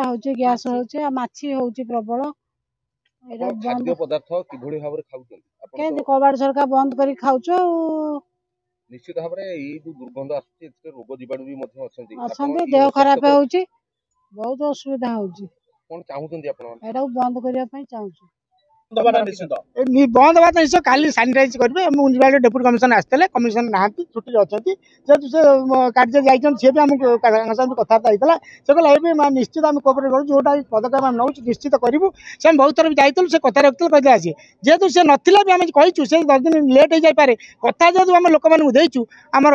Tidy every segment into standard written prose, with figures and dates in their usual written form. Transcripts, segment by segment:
ହେଉଛି, ଗ୍ୟାସ୍ ହେଉଛି ଆଉ ମାଛି ହେଉଛି ପ୍ରବଳ। ଏଇଟା ଆପଣ ବନ୍ଦ ଖାଦ୍ୟ ପଦାର୍ଥ କିଭଳି ଭାବରେ ଖାଉଛନ୍ତି ଆପଣ? କେମିତି କବାଟ ଝରକା ବନ୍ଦ କରି ଖାଉଛୁ ଆଉ। ନିଶ୍ଚିତ ଭାବରେ ଏଇ ଯୋଉ ଦୁର୍ଗନ୍ଧ ଆସୁଛି, ଏଥିରେ ରୋଗ ଜୀବାଣୁ ବି ମଧ୍ୟ ଅଛନ୍ତି। ଆପଣ ଅଛନ୍ତି, ଏଇ ଦେହ ଖରାପ ଅସ୍ୱାସ୍ଥ୍ୟକର ହେଉଛି, ବହୁତ ଅସୁବିଧା ହେଉଛି। କଣ ଚାହୁଁଛନ୍ତି ଆପଣ? ଏଇଟାକୁ ବନ୍ଦ କରିବା ପାଇଁ ଚାହୁଁଛୁ। ଦବାଟା ନିଶ୍ଚିତ ବନ୍ଦ ହେବା ତ ନିଶ୍ଚୟ। କାଲି ସାନିଟାଇଜ କରିବେ। ମ୍ୟୁନିସିପାଲିଟି ଡେପୁଟି କମିଶନର ଆସିଥିଲେ, କମିଶନର ନାହାନ୍ତି, ଛୁଟିରେ ଅଛନ୍ତି। ଯେହେତୁ ସେ କାର୍ଯ୍ୟରେ ଯାଇଛନ୍ତି, ସିଏ ବି ଆମକୁ ତାଙ୍କ ସହିତ କଥାବାର୍ତ୍ତା ହେଇଥିଲା। ସେ କହିଲେ ଏବେ ନିଶ୍ଚିତ ଆମେ କୋଅପରେଟ୍ କରୁଛୁ, ଯେଉଁଟା ପଦକ୍ଷେପ ଆମେ ନେଉଛୁ ନିଶ୍ଚିତ କରିବୁ। ସେ ଆମେ ବହୁତ ଥର ବି ଯାଇଥିଲୁ, ସେ କଥା ରଖିଥିଲେ, କହିଥିଲେ ଆସିବେ। ଯେହେତୁ ସେ ନଥିଲା ବି ଆମେ କହିଛୁ, ସେ 10 ଦିନ ଲେଟ୍ ହେଇଯାଇପାରେ। କଥା ଯେହେତୁ ଆମେ ଲୋକମାନଙ୍କୁ ଦେଇଛୁ, ଆମର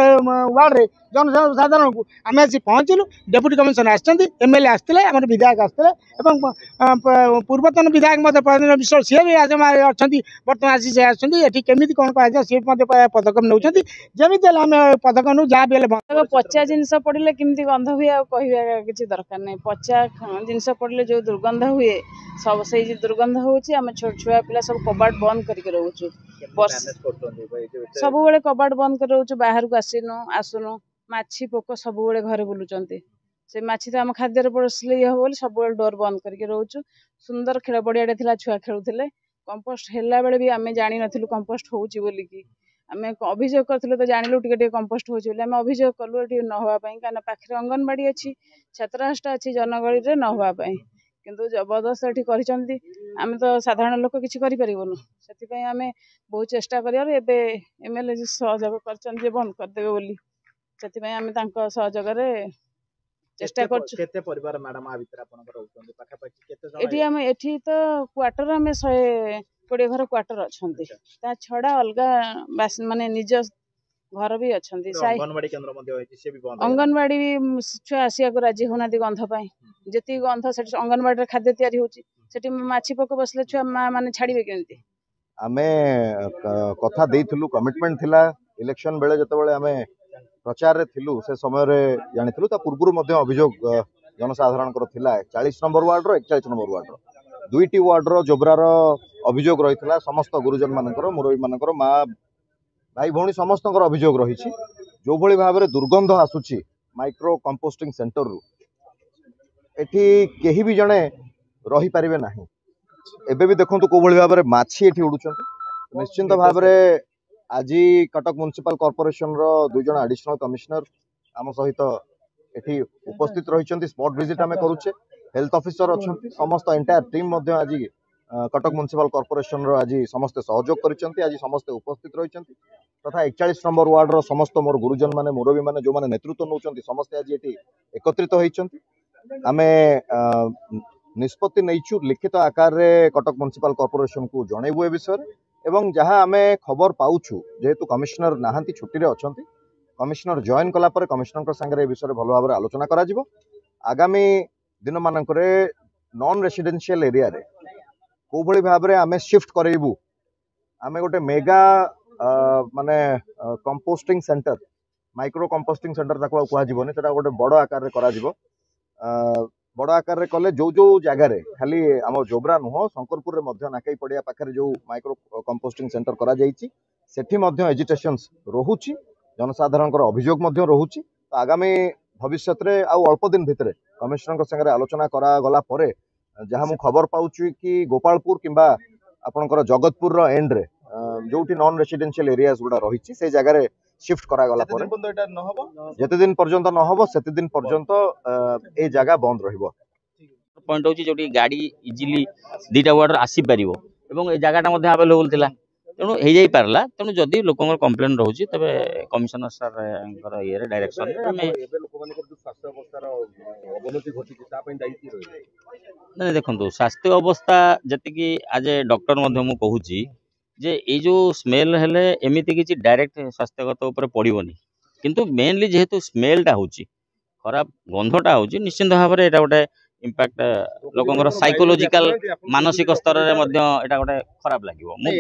ୱାର୍ଡ଼ରେ ଜନସାଧାରଣଙ୍କୁ, ଆମେ ଆସି ପହଞ୍ଚିଲୁ। ଡେପୁଟି କମିଶନର ଆସିଛନ୍ତି, ଏମ୍ ଏଲ୍ ଏ ଆସିଥିଲେ, ଆମର ବିଧାୟକ ଆସିଥିଲେ ଏବଂ ପୂର୍ବତନ ବିଧାୟକ ମଧ୍ୟ ପ୍ରଧାନ ବିଶ୍ୱାଳ, ସିଏ ବି ଆଜି ଅଛନ୍ତି। ବର୍ତ୍ତମାନ ଆସି ସେ ଆସିଛନ୍ତି। ଏଠି କେମିତି କ'ଣ କରାଯିବ, ସିଏ ବି ମଧ୍ୟ ପଦକ୍ଷେପ ନେଉଛନ୍ତି। ଯେମିତି ହେଲେ ଆମେ ପଦକ୍ଷେପ ନେଉ, ଯାହା ବି ହେଲେ ବନ୍ଦ। ଦେଖ, ପଚା ଜିନିଷ ପଡ଼ିଲେ କେମିତି ଗନ୍ଧ ହୁଏ ଆଉ କହିବା କିଛି ଦରକାର ନାହିଁ। ପଚା ଜିନିଷ ପଡ଼ିଲେ ଯେଉଁ ଦୁର୍ଗନ୍ଧ ହୁଏ, ସବୁ ସେଇ ଯେଉଁ ଦୁର୍ଗନ୍ଧ ହେଉଛି। ଆମେ ଛୋଟ ଛୁଆ ପିଲା ସବୁ କବାଟ ବନ୍ଦ କରିକି ରହୁଛୁ। ବର୍ଷ ମ୍ୟାନେଜ କରୁଛନ୍ତି ଏଇ ଯୋଉ ଏତେ ସବୁବେଳେ କବାଟ ବନ୍ଦ କରି ରହୁଛୁ, ବାହାରକୁ ଆସିନୁ ଆସୁନୁ। ମାଛି ପୋକ ସବୁବେଳେ ଘରେ ବୁଲୁଛନ୍ତି। ସେ ମାଛି ତ ଆମ ଖାଦ୍ୟରେ ପଶିଲେ ଇଏ ହବ ବୋଲି ସବୁବେଳେ ଡୋର ବନ୍ଦ କରିକି ରହୁଛୁ। ସୁନ୍ଦର ଖେଳ ପଡ଼ିଆଟେ ଥିଲା, ଛୁଆ ଖେଳୁଥିଲେ। କମ୍ପୋଷ୍ଟ ହେଲା ବେଳେ ବି ଆମେ ଜାଣିନଥିଲୁ କମ୍ପୋଷ୍ଟ ହେଉଛି ବୋଲିକି। ଆମେ ଅଭିଯୋଗ କରିଥିଲୁ ତ ଜାଣିଲୁ ଟିକେ ଟିକେ କମ୍ପୋଷ୍ଟ ହେଉଛି ବୋଲି। ଆମେ ଅଭିଯୋଗ କଲୁ ଏଠି ନ ହେବା ପାଇଁ, କାହିଁକିନା ପାଖରେ ଅଙ୍ଗନବାଡ଼ି ଅଛି, ଛାତ୍ରାବାସଟା ଅଛି, ଜନଗହଳିରେ ନ ହେବା ପାଇଁ। କିନ୍ତୁ ଜବରଦସ୍ତ ଏଠି କରିଛନ୍ତି। ଆମେ ତ ସାଧାରଣ ଲୋକ, କିଛି କରିପାରିବୁନୁ। ସେଥିପାଇଁ ଆମେ ବହୁତ ଚେଷ୍ଟା କରିବାରୁ ଏବେ ଏମ୍ ଏଲ୍ ଏ ସହଯୋଗ କରିଛନ୍ତି ଯେ ବନ୍ଦ କରିଦେବେ ବୋଲି। ସେଥିପାଇଁ ଆମେ ତାଙ୍କ ସହଯୋଗରେ ଚେଷ୍ଟା କରୁଛୁ। କେତେ ପରିବାର ମ୍ୟାଡାମ ଆ ଭିତରେ ଆପଣଙ୍କର ରହୁଛନ୍ତି? ପାଖାପାଖି କେତେ ଜଣ? ଏଠି ଆମେ ଏଠି ତ କ୍ୱାର୍ଟର, ଆମେ 120 ଘର କ୍ୱାର୍ଟର ଅଛନ୍ତି। ତା ଛଡ଼ା ଅଲଗା ବାସ, ମାନେ ନିଜ ଘର ବି ଅଛନ୍ତି। ସାହି ଅଙ୍ଗନବାଡି କେନ୍ଦ୍ର ମଧ୍ୟ ହେଇଛି, ସେ ବି ବନ୍ଦ ହେଇଗଲାଣି। ଅଙ୍ଗନବାଡ଼ି ବି ଛୁଆ ଆସିବାକୁ ରାଜି ହଉନାହାନ୍ତି ଗନ୍ଧ ପାଇଁ। ଯେତିକି ଗନ୍ଧ ସେଠି, ଅଙ୍ଗନବାଡ଼ିରେ ଖାଦ୍ୟ ତିଆରି ହେଉଛି, ସେଠି ମାଛି ପୋକ ବସିଲେ ଛୁଆ ମା ମାନେ ଛାଡ଼ିବେ କେମିତି? ଆମେ କଥା ଦେଇଥିଲୁ, କମିଟମେଣ୍ଟ ଥିଲା। ଇଲେକ୍ସନ ବେଳେ ଯେତେବେଳେ ଆମେ ପ୍ରଚାରରେ ଥିଲୁ, ସେ ସମୟରେ ଜାଣିଥିଲୁ। ତା ପୂର୍ବରୁ ମଧ୍ୟ ଅଭିଯୋଗ ଜନସାଧାରଣଙ୍କର ଥିଲା। 40 ନମ୍ବର ୱାର୍ଡର, 41 ନମ୍ବର ୱାର୍ଡର, ଦୁଇଟି ୱାର୍ଡର ଜୋବ୍ରାର ଅଭିଯୋଗ ରହିଥିଲା। ସମସ୍ତ ଗୁରୁଜନ ମାନଙ୍କର, ମୁରବୀ ମାନଙ୍କର, ମା ଭାଇ ଭଉଣୀ ସମସ୍ତଙ୍କର ଅଭିଯୋଗ ରହିଛି। ଯେଉଁଭଳି ଭାବରେ ଦୁର୍ଗନ୍ଧ ଆସୁଛି ମାଇକ୍ରୋ କମ୍ପୋଷ୍ଟିଂ ସେଣ୍ଟରରୁ, ଏଠି କେହି ବି ଜଣେ ରହିପାରିବେ ନାହିଁ। ଏବେ ବି ଦେଖନ୍ତୁ କୋଉଭଳି ଭାବରେ ମାଛି ଏଠି ଉଡୁଛନ୍ତି। ନିଶ୍ଚିନ୍ତ ଭାବରେ ଆଜି କଟକ ମ୍ୟୁନିସିପାଲ କର୍ପୋରେସନର 2 ଜଣ ଆଡିସନାଲ କମିଶନର ଆମ ସହିତ ଏଠି ଉପସ୍ଥିତ ରହିଛନ୍ତି। ସ୍ପଟ୍ ଭିଜିଟ୍ ଆମେ କରୁଛେ। ହେଲ୍ଥ ଅଫିସର ଅଛନ୍ତି, ସମସ୍ତ ଏଣ୍ଟାୟାର ଟିମ୍ ମଧ୍ୟ ଆଜି କଟକ ମ୍ୟୁନିସିପାଲ କର୍ପୋରେସନର ଆଜି ସମସ୍ତେ ସହଯୋଗ କରିଛନ୍ତି। ଆଜି ସମସ୍ତେ ଉପସ୍ଥିତ ରହିଛନ୍ତି ତଥା 41 ନମ୍ବର ୱାର୍ଡର ସମସ୍ତ ମୋର ଗୁରୁଜନ ମାନେ, ମୁରବୀ ମାନେ, ଯେଉଁମାନେ ନେତୃତ୍ୱ ନେଉଛନ୍ତି, ସମସ୍ତେ ଆଜି ଏଠି ଏକତ୍ରିତ ହୋଇଛନ୍ତି। ଆମେ ନିଷ୍ପତ୍ତି ନେଇଛୁ, ଲିଖିତ ଆକାରରେ କଟକ ମ୍ୟୁନିସିପାଲ କର୍ପୋରେସନକୁ ଜଣେଇବୁ ଏ ବିଷୟରେ। ଏବଂ ଯାହା ଆମେ ଖବର ପାଉଛୁ, ଯେହେତୁ କମିଶନର ନାହାନ୍ତି, ଛୁଟିରେ ଅଛନ୍ତି, କମିଶନର ଜଏନ୍ କଲା ପରେ କମିଶନରଙ୍କ ସାଙ୍ଗରେ ଏ ବିଷୟରେ ଭଲ ଭାବରେ ଆଲୋଚନା କରାଯିବ। ଆଗାମୀ ଦିନମାନଙ୍କରେ ନନ୍ ରେସିଡେନ୍ସିଆଲ ଏରିଆରେ କୋଉଭଳି ଭାବରେ ଆମେ ସିଫ୍ଟ କରେଇବୁ, ଆମେ ଗୋଟେ ମେଗା ମାନେ composting centre, micro composting centre ତାକୁ ଆଉ କୁହାଯିବନି, ସେଟା ଗୋଟେ ବଡ଼ ଆକାରରେ କରାଯିବ। ବଡ଼ ଆକାରରେ କଲେ ଯୋଉ ଯୋଉ ଜାଗାରେ, ଖାଲି ଆମ ଜୋବ୍ରା ନୁହଁ, ଶଙ୍କରପୁରରେ ମଧ୍ୟ ନାକେଇ ପଡ଼ିଆ ପାଖରେ ଯୋଉ ମାଇକ୍ରୋ କମ୍ପୋଷ୍ଟିଂ ସେଣ୍ଟର କରାଯାଇଛି, ସେଠି ମଧ୍ୟ ଏଜିଟେସନ୍ସ ରହୁଛି, ଜନସାଧାରଣଙ୍କର ଅଭିଯୋଗ ମଧ୍ୟ ରହୁଛି। ତ ଆଗାମୀ ଭବିଷ୍ୟତରେ ଆଉ ଅଳ୍ପ ଦିନ ଭିତରେ କମିଶନରଙ୍କ ସାଙ୍ଗରେ ଆଲୋଚନା କରାଗଲା ପରେ ଯାହା ମୁଁ ଖବର ପାଉଛି କି ଗୋପାଳପୁର କିମ୍ବା ଆପଣଙ୍କର ଜଗତପୁରର ଏଣ୍ଡରେ ଯୋଉଠି ନନ୍ ରେସିଡେନ୍ସିଆଲ ଏରିଆଜ ଗୁଡ଼ା ରହିଛି, ସେଇ ଜାଗାରେ ସିଫ୍ଟ କରାଗଲା ଯେତେ ପରେ ଦିନ ପର୍ଯ୍ୟନ୍ତ ଏଇଟା ନ ହବ, ଯେତେ ଦିନ ପର୍ଯ୍ୟନ୍ତ ନ ହବ, ସେତେ ଦିନ ପର୍ଯ୍ୟନ୍ତ ଏଇ ଜାଗା ବନ୍ଦ ରହିବ। ପଏଣ୍ଟ ହେଉଛି ଯୋଉଠି ଗାଡ଼ି ଇଜିଲି 2ଟା ୱାର୍ଡ଼ର ଆସିପାରିବ ଏବଂ ଏ ଜାଗାଟା ମଧ୍ୟ ଆଭେଲେବୁଲ୍ ଥିଲା, ତେଣୁ ହେଇଯାଇପାରିଲା। ତେଣୁ ଯଦି ଲୋକଙ୍କର କମ୍ପ୍ଲେନ୍ ରହୁଛି, ତେବେ କମିଶନର ସାର୍ଙ୍କର ଇଏରେ ଡାଇରେକ୍ସନରେ ଆମେ ଏବେ ଲୋକମାନଙ୍କର ଯୋଉ ସ୍ୱାସ୍ଥ୍ୟ ଅବସ୍ଥାର ଅବନତି ଘଟିଛି, ତା ପାଇଁ ଦାୟୀ କିଏ ରହିବ? ନାଇଁ, ଦେଖନ୍ତୁ, ସ୍ୱାସ୍ଥ୍ୟ ଅବସ୍ଥା ଯେତିକି ଆଜ୍ ଏ ଡକ୍ଟର ମଧ୍ୟ ମୁଁ କହୁଛି ଯେ ଏଇ ଯୋଉ ସ୍ମେଲ୍ ହେଲେ ଏମିତି କିଛି ଡାଇରେକ୍ଟ ସ୍ୱାସ୍ଥ୍ୟଗତ ଉପରେ ପଡ଼ିବନି। କିନ୍ତୁ ମେନଲି ଯେହେତୁ ସ୍ମେଲ୍ଟା ହେଉଛି, ଖରାପ ଗନ୍ଧଟା ହେଉଛି, ନିଶ୍ଚିନ୍ତ ଭାବରେ ଏଇଟା ଗୋଟେ ଇମ୍ପାକ୍ଟ ଲୋକଙ୍କର ସାଇକୋଲୋଜିକାଲ, ମାନସିକ ସ୍ତରରେ ମଧ୍ୟ ଏଇଟା ଗୋଟେ ଖରାପ ଲାଗିବ। ମୁଁ